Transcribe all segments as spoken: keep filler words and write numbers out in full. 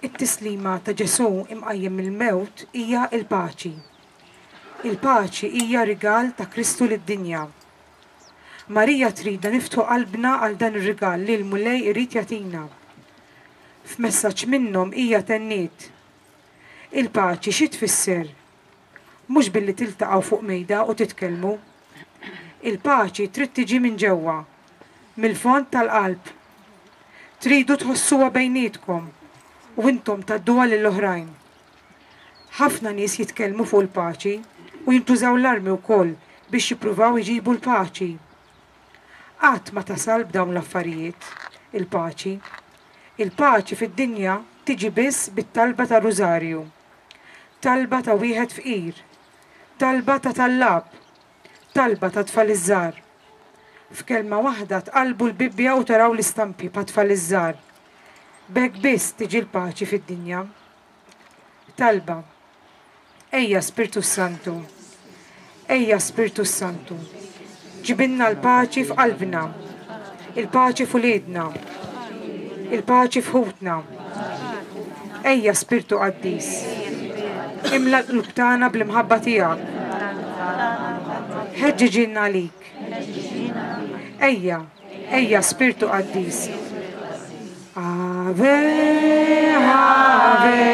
It-tislima ta' Ġesù imqajjem mill-mewt hija l-paċi. Il-paċi hija rigal ta' Kristu lid-dinja. Marija tridna niftħu qalbna għal dan ir-rigal li l-Mulej irid jagħtina. F'messaġġ minnhom hija tenniet. Il-paċi xi tfisser? Mhux billi tiltaqgħu fuq mejda u titkellmu. Il-paċi trid tiġi minn ġewwa, mill-fond tal-qalb. Tridu tħossuha bejnietkom u intom tgħadduha lill-oħrajn. Ħafna nies jitkellmu fuq il-paċi u jintużaw l-armi wkoll biex jippruvaw iġibu l-paċi. Qatt ma tasal b'dawn l-affarijiet, il-paċi. Il-paċi fid-dinja tiġi biss bit-talba ta' Rużarju. Talba ta' wieħed fqir, talba ta' tallab, talba ta' tfal iż-żgħar. F'kelma waħda tqallbu l-Bibbja u taraw l-istampi pa' tfal iż-żgħar. B'hekk biss tiġi l-paċi fid-dinja. Talba. Ejja Spirtu Santu. Ejja Spirtu Santu. Ġibilna l-paċi f'qalbna, il-paċi f'uliedna, il-paċi f'ħutna. Ejja Spirtu Qaddis. Imla l-qlub tagħna bl-imħabba tiegħek. Ħeġġiġilna għalik. Ejja, ejja Spirtu Qaddis. Ave, Ave,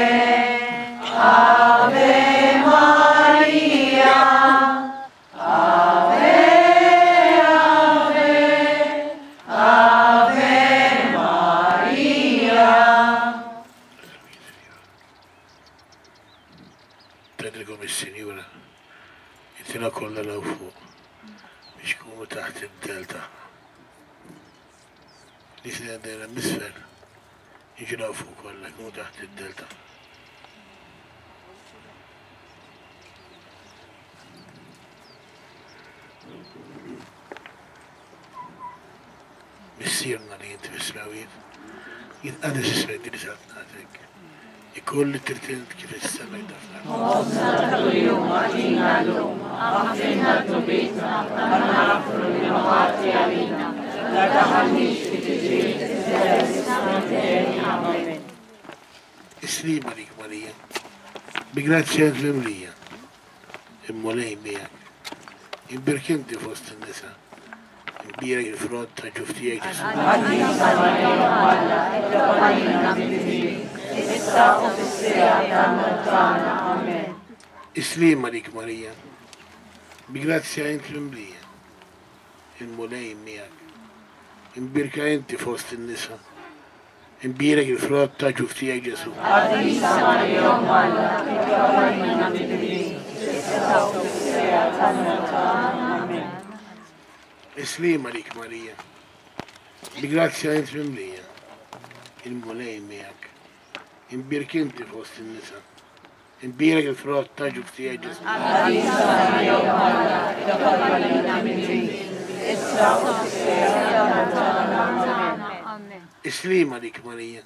Ave Maria. Ave, Ave, Ave Maria. Tgħidilkom is-Sinjura, itina kollha 'l fuq biex kunu taħt id-dell tagħha. Nies li għandna misfel, jiġu 'l fuq kollha, jkunu taħt id-dell tagħha. Missierna li inti fis-smewwiet, jitqaddes ismek din saltnatek. Ikun li trid int kif is-sema jtaf l-art. Ħobżna ta' kuljum agħtina llum, aħfrilna dnubietna bħalma naħfru lil min ħati għalina. La taħallniex fi tiġrib, iżda eħlisna mid-deni. Amen. Is-sliem għalik Marija, bi grazzja int mimlija. Il-Mulej miegħek. Imbierek inti fost in-nisa. Imbierek il-frott ta' ġuf tiegħek Ġesù. Qaddisa Marija Alla, itlob għalina midinbin, issa u fis-siegħa tal-mewt tagħna. Amen. Is-sliem għalik Marija, bi grazzja int mimlija. Il-Mulej miegħek. Imbierka inti fost in-nisa. Imbierek il-frott ta' ġuf tiegħek Ġesù. Qaddisa Marija Alla, itlob għalina midinbin, issa u fis-siegħa tal-mewt tagħna. Amen. Is-sliem għalik Marija, bi grazzja int mimlija. Il-Mulej miegħek. Imbierek inti fost in-nisa. Imbierek il-frott ta' ġuf tiegħek Ġesù. Qaddisa Marija Alla, itlob għalina midinbin, issa u fis-siegħa tal-mewt tagħna. Amen. Is-sliem għalik Marija,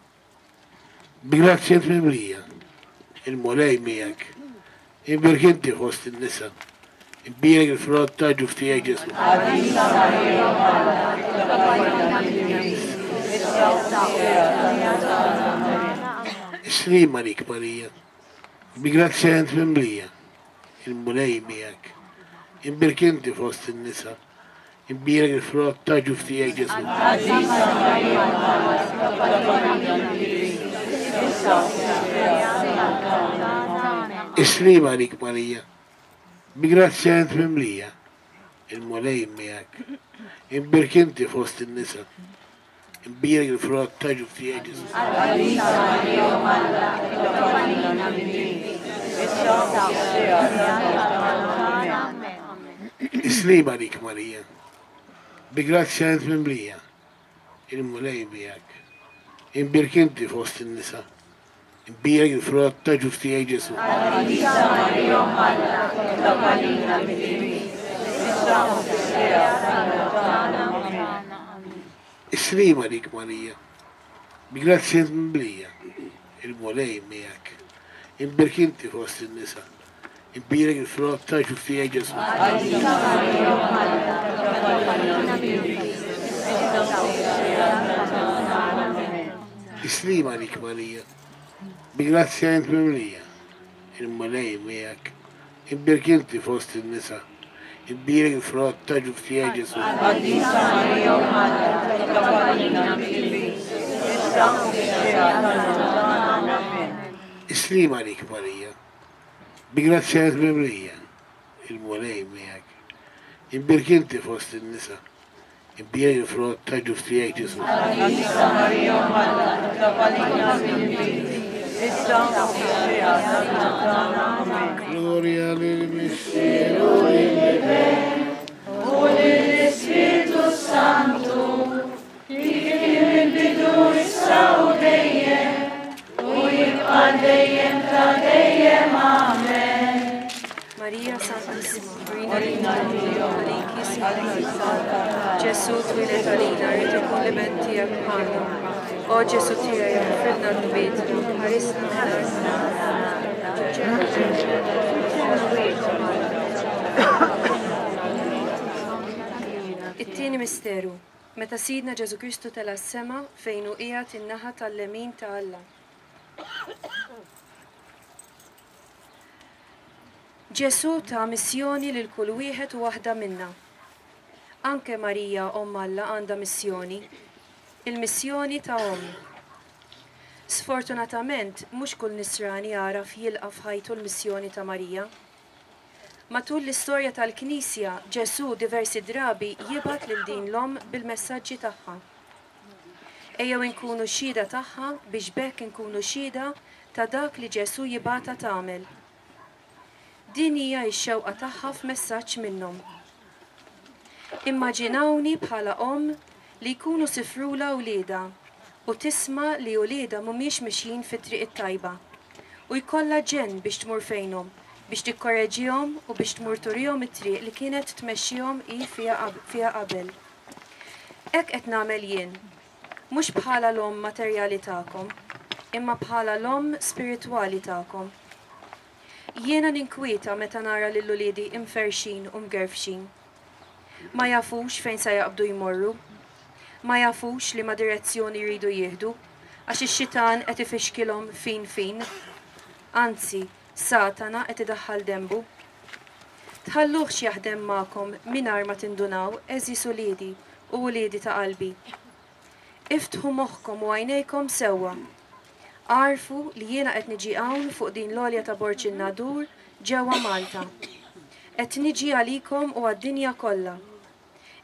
bi grazzja int mimlija. Il-Mulej miegħek. Imbierek inti fost in-nisa. Imbierek il-frott ta' ġuf tiegħek Ġesù. Qaddisa Marija Alla, itlob għalina midinbin, issa u fis-siegħa tal-mewt tagħna. Amen. Is-sliem għalik Marija, bi grazzja int mimlija. Il-Mulej miegħek. Imbierek inti fost in-nisa. Imbierek il-frott ta' ġuf tiegħek Ġesù. Qaddisa Marija Alla, itlob għalina midinbin, issa u fis-siegħa tal-mewt tagħna. Amen. Is-sliem għalik Marija, bi grazzja int mimlija. Il-Mulej miegħek. Imbierek inti fost in-nisa. Imbierek il-frott ta' ġuf tiegħek Ġesù. Qaddisa Marija Alla, itlob għalina midinbin, issa u fis-siegħa tal-mewt tagħna. Amen. Is-sliem għalik Marija, bi grazzja int mimlija. Il-Mulej miegħek. Imbierek inti fost in-nisa. Imbierek il-frott ta' ġuf tiegħek Ġesù. Qaddisa Marija Alla, itlob għalina midinbin, issa u fis-siegħa tal-mewt tagħna. Amen. Is-sliem għalik Marija, bi grazzja int mimlija. Il-Mulej miegħek. Imbierek inti fost in-nisa. Imbierek il-frott ta' ġuf tiegħek Ġesù. Qaddisa Marija Alla, itlob għalina midinbin, issa u fis-siegħa tal-mewt tagħna. Amen. Is-sliem għalik Marija, Bi grazzja int mimlija, il-Mulej miegħek. Imbierka inti fost in-nisa, imbierek il-frott ta' ġuf tiegħek Ġesù. Qaddisa Marija Omm Alla, itlob għalina midinbin, issa u fis-siegħa tal-mewt tagħna. Amen. Is-sliem għalik Marija, bi grazzja int mimlija, il-Mulej miegħek. Imbierka inti fost in-nisa, imbierek il-frott ta' ġuf tiegħek Ġesù. Qaddisa Marija Omm Alla, itlob għalina midinbin, issa u fis-siegħa tal-mewt tagħna. Amen. Gloria lill-Missier u lill-Iben u lill-Ispirtu Santu, kif kien mill-bidu issa u dejjem, u jibqa' dejjem ta' dejjem. Amen. Marija Santissima, urina għalik jisma. Ġesù twieled għalina, rrid ikun l-iben tiegħek magħna. O Ġesù tiegħi, aħfrilna dnubietna, ħarisna min-nar. It-tieni misteru, meta Sidna Ġesù Kristu tela' s-sema fejn hu qiegħed in-naħa tal-lemin ta' Alla. Ġesù ta missjoni lil kull wieħed u waħda minna. Anke Marija Omm Alla għandha missjoni, il-missjoni ta' omm. Sfortunatament, mhux kull nisrani jagħraf jilqa' f'ħajtu l-missjoni ta' Marija. Matul l-istorja tal-Knisja, Ġesù diversi drabi jibgħat lil din l-omm bil-messaġġi tagħha. Ejjew inkunu xhieda tagħha biex b'hekk inkunu xhieda ta' dak li Ġesù jibgħatha tagħmel. Din hija x-xewqa tagħha f'messaġġ minnhom. Immaġinawni bħala omm li jkunu sifrula wliedha u tisma' li wliedha mhumiex mixjin fit-triq it-tajba u jkollha ġenn biex tmur fejnhom, biex tikkoreġihom u biex tmur turihom it-triq li kienet tmexxihom hi fiha qabel. Hekk qed nagħmel jien, mhux bħala l-omm materjali tagħkom, imma bħala l-omm spiritwali tagħkom. Jiena ninkwieta meta nara lil uliedi imferxin u mgerfxin. Ma jafux fejn sa jaqbdu jmorru, ma jafux li ma direzzjoni jridu jieħdu, għax ix-xitan qed ifixkilhom fin fin. Anzi, Satana qed idaħħal dembu. Tħalluhx jaħdem magħkom mingħajr ma tindunaw, għeżież uliedi u uliedi ta' qalbi. Iftħu moħħkom u għajnejkom sewwa. Għarfu li jiena qed niġi hawn fuq din l-għolja ta' Borġ in-Nadur ġewwa Malta. Qed niġi għalikom u għad-dinja kollha.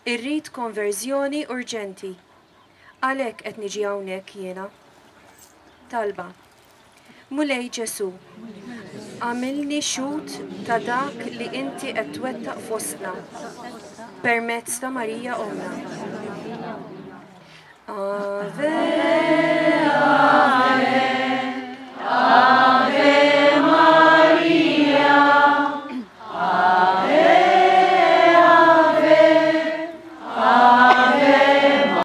Irrid konverżjoni urġenti. Għalhekk qed niġi hawnhekk jiena. Talba. Mulej Ġesù, għamilni xhud ta' dak li inti qed twettaq fostna permezz ta' Marija Ommna. Ave